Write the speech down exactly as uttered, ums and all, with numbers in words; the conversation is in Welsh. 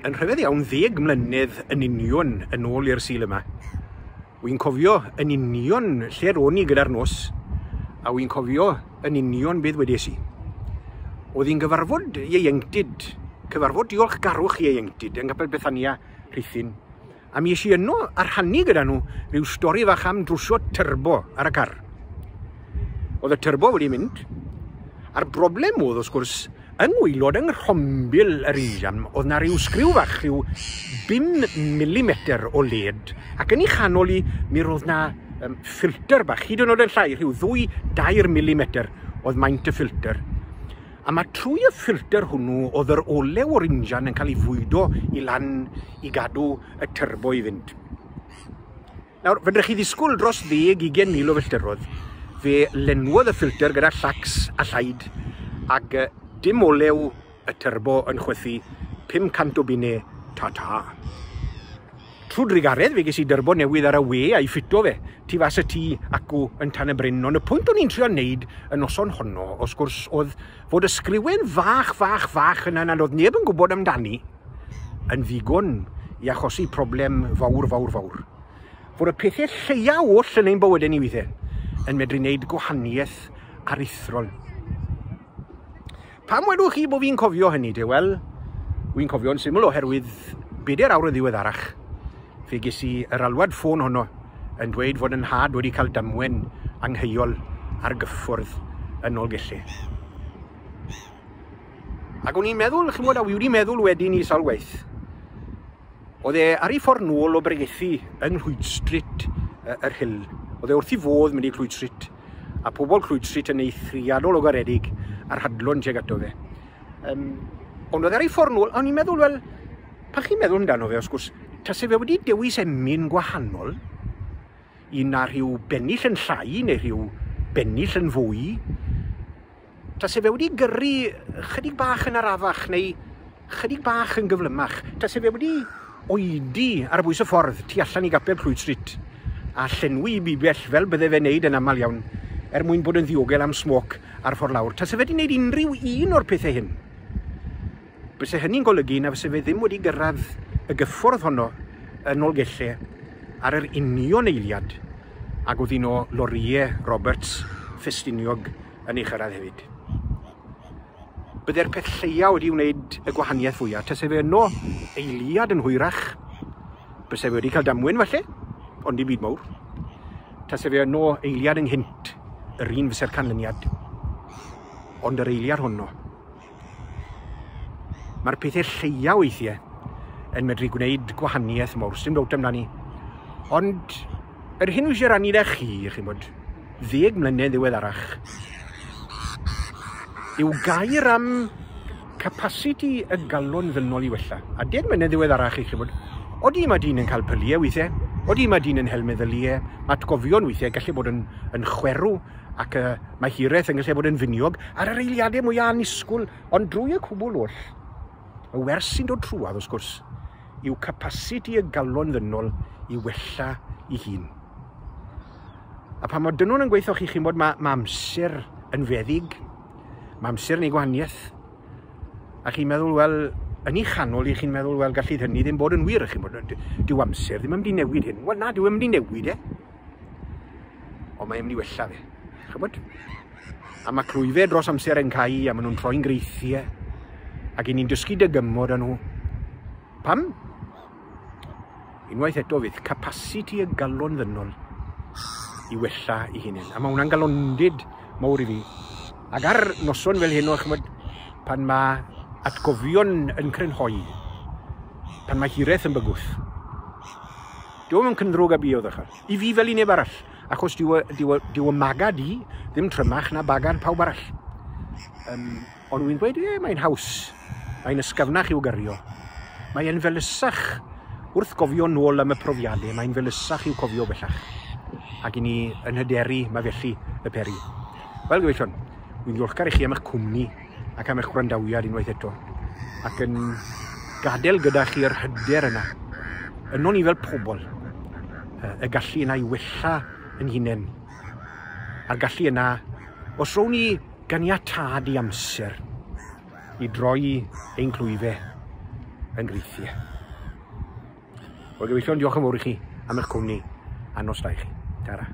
Yn rhyfedd iawn, ddeg mlynedd yn union yn ôl i'r Sul yma. Wy'n cofio yn union lle ro'n i gyda'r nos, a wy'n cofio yn union beth wedes i. Oedd hi'n gyfarfod ieuenctid, cyfarfod diolchgarwch ieuenctid yng Nghapel Bethania, Rhuthun. A mi es i yno a rhannu gyda nhw rhyw stori fach am drwsio turbo ar y car. Oedd y turbo wedi mynd, a'r broblem oedd, wrth gwrs, yng ngwaelod, yng nghrombil yr injan, oedd na rhyw sgriw fach, rhyw bum milimetr o led, ac yn ei chanol i, mi roedd na um, ffilter bach, hyd yn oed yn llai, rhyw ddwy dair milimetr oedd maint y ffilter. A mae trwy y ffilter hwnnw oedd yr olew o'r injan yn cael ei fwydo i lan i gadw y turbo i fynd. Nawr, fedrwch chi ddisgwyl dros ddeg, ugain mil o filltiroedd, fe lenwodd y ffilter gyda llacs a llaid, ac dim olew y turbo yn chwythu, pum cant o bunne, ta-ta. Trwy drugaredd fe ges i dyrbo newydd ar y we a'i ffito fe, tu fas y tŷ acw yn Tan y Bryn, ond y pwynt o'n i'n trio wneud y noson honno, wrth gwrs, oedd fod y sgriwen fach, fach, fach yna nad oedd neb yn gwybod amdani, yn ddigon i achosi problem fawr, fawr, fawr. Fod y pethau lleia oll yn ein bywydau ni weithiau yn medru wneud gwahaniaeth aruthrol. Pam wedwch chi bod fi'n cofio hynny te? Wel, wy'n cofio'n syml oherwydd bedair awr yn ddiweddarach, fe ges i yr alwad ffôn honno yn dweud fod yn nhad wedi cael damwen angheuol ar gyffwrdd yn Nolgellau. Ac o'n i'n meddwl, chi'n gwybod, a wi wedi meddwl wedyn i sawl gwaith, oedd e ar ei ffordd nôl o bregethu yng Nghlwyd Street yr Hill. Oedd e wrth ei fodd mynd i Clwyd Street, a pobl Clwyd Street yn eithriadol o garedig a'r hadlon tuag ato fe. Um, ond oedd ar ei ffordd nôl, a o'n i'n meddwl, wel, pan chi'n meddwl amdano fe, wrth gwrs, tase fe wedi dewis emyn gwahanol, un na rhyw bennill yn llai neu rhyw bennill yn fwy, tase fe wedi gyrru chydig bach yn arafach neu chydig bach yn gyflymach, tase fe wedi oedi ar bwys y ffordd tu allan i gapel Clwyd Street a llenwi bibell fel bydde fe'n neud yn aml iawn er mwyn bod yn ddiogel am smoc ar ffordd lawr. Tase fe wedi wneud unrhyw un o'r pethau hyn, byse hynny'n golygu na fyse fe ddim wedi gyrraedd y gyffordd honno yn Nolgellau ar yr union eiliad ac oedd un o lorïau Roberts Ffestiniog yn ei chyrraedd hefyd. Bydde'r peth lleia wedi wneud y gwahaniaeth fwyaf. Tase fe yno eiliad yn hwyrach, byse fe wedi cael damwen falle, ond dim byd mawr. Tase fe yno eiliad ynghynt, yr un fyse'r canlyniad. Ond yr eiliad honno. Mae'r pethau lleia weithiau yn medru gwneud gwahaniaeth mawr, sdim dowt amdani. Ond yr hyn wy eisiau rannu 'da chi, chi'n bod, ddeg mlynedd ddiweddarach, yw gair am capacity y galon ddynol i wella. A deg mlynedd ddiweddarach i chi bod, odi mae dyn yn cael pyliau weithiau, odi mae dyn yn hel meddyliau, mae atgofion weithiau gallu bod yn, yn chwerw, ac uh, mae hiraeth yn gallu bod yn finiog ar yr eiliadau mwyaf annisgwyl, ond drwy y cwbl oll, y wers sy'n dod trwadd, wrth gwrs, yw capacity y galon ddynol i wella i hun. A pan mae dynol yn gweithio chi, chi'n bod mae, mae amser yn feddyg, mae amser yn ei gwahaniaeth, a chi'n meddwl, wel, yn ei chanol i chi'n meddwl, wel, gallu hynny ddim bod yn wir, chi'n bod, dyw amser ddim yn mynd i newid hyn. Wel na, dyw yn mynd i newid e, ond mae'n mynd i wella fe, chi'n bod? A mae clwyfau dros amser yn cau, a maen nhw'n troi'n greithiau, ac i ni'n dysgu dygymod â nhw. Pam? Unwaith eto fydd capacity y galon ddynol i wella i hunain. A mae hwnna'n galondid mawr i fi. Ac ar noson fel hyn, ch'mod, pan mae atgofion yn crynhoi, pan mae hiraeth yn bygwth, dyw e'm yn cynddrwg a bu o ddechrau. I fi fel i neb arall, achos dyw dyw dyw y magad i ddim trymach na bagad pawb arall. Um, ond wy'n dweud, e, mae'n haws, mae'n ysgyfnach i'w gyrio. Mae'n felysach wrth gofio nôl am y profiadau, mae'n felysach i'w cofio bellach. Ac i ni yn hyderu, mae felly y peri. Wel, gyfeillion, wy'n ddiolchgar i chi am eich cwmni ac am eich gwrandawiad unwaith eto. Ac yn gadael gyda chi'r hyder yna. Yno ni fel pobl, y gallu yna i wella yn hunain. A'r gallu yna, os rown ni ganiatâd i amser i droi ein clwyfau, yn greithiau. Wel, gyfeillion, diolch yn fawr i chi am eich cwmni, a nos da i chi. Tara.